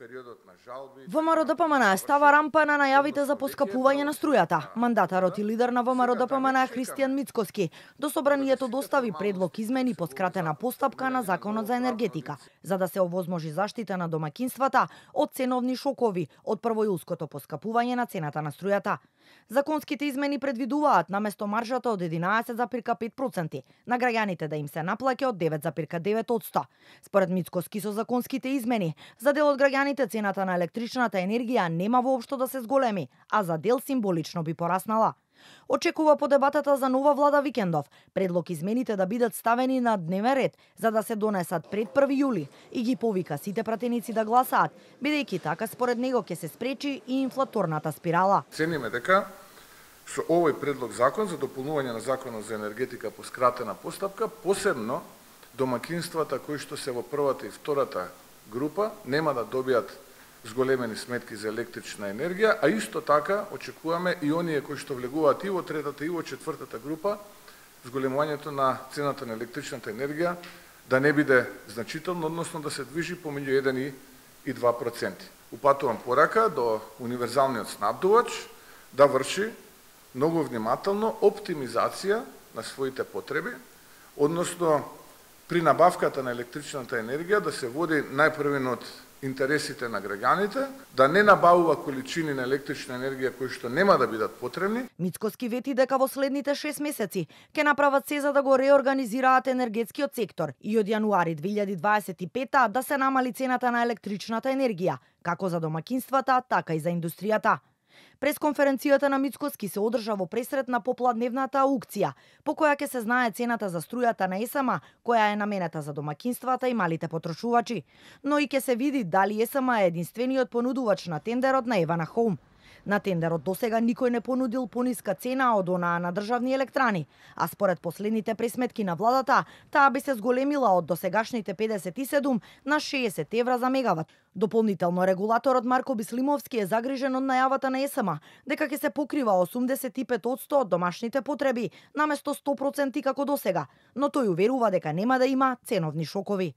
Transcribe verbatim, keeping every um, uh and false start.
периодот на жалби. ВМРО-ДПМН става рампа на најавите за поскапување на струјата. Мандатарот и лидер на ВМРО-ДПМН Христијан Мицкоски до собранието достави предлог измени по скратена постапка на Законот за енергетика, за да се овозможи заштита на домаќинствата од ценовни шокови од првојулското поскапување на цената на струјата. Законските измени предвидуваат наместо маржата од единаесет зарез пет проценти на граѓаните да им се наплаќа од девет зарез девет одсто. Според Мицкоски со законските измени, за дел од граѓаните цената на електричната енергија нема воопшто да се зголеми, а за дел символично би пораснала. Очекува по дебатата за нова влада викендов предлог измените да бидат ставени на дневен ред за да се донесат пред први јули и ги повика сите пратеници да гласаат, бидејќи така според него ќе се спречи и инфлаторната спирала. Цениме дека со овој предлог закон за дополнување на Законот за енергетика по скратена постапка, посебно домаќинствата кои што се во првата и втората група нема да добијат зголемени сметки за електрична енергија, а исто така очекуваме и оние кои што влегуваат и во третата и во четвртата група, зголемувањето на цената на електричната енергија да не биде значително, односно да се движи помеѓу еден и два проценти. Упатувам порака до универзалниот снабдувач да врши многу внимателно оптимизација на своите потреби, односно при набавката на електричната енергија да се води најпрвен од интересите на граѓаните, да не набавува количини на електрична енергија кои што нема да бидат потребни. Мицкоски вети дека во следните шест месеци ќе направат се за да го реорганизираат енергетскиот сектор и од јануари две илјади дваесет и пета да се намали цената на електричната енергија, како за домаќинствата, така и за индустријата. Пресконференцијата на Мицкоски се одржа во пресред на попладневната аукција, по која ќе се знае цената за струјата на ЕСМ, која е наменета за домаќинствата и малите потрошувачи, но и ќе се види дали ЕСМ е единствениот понудувач на тендерот на Евана Хоум. На тендерот досега никој не понудил пониска цена од онаа на државни електрани, а според последните пресметки на владата, таа би се зголемила од досегашните педесет и седум на шеесет евра за мегават. Дополнително регулаторот Марко Бислимовски е загрижен од најавата на ЕСМ дека ќе се покрива осумдесет и пет одсто од домашните потреби наместо сто проценти како досега, но тој уверува дека нема да има ценовни шокови.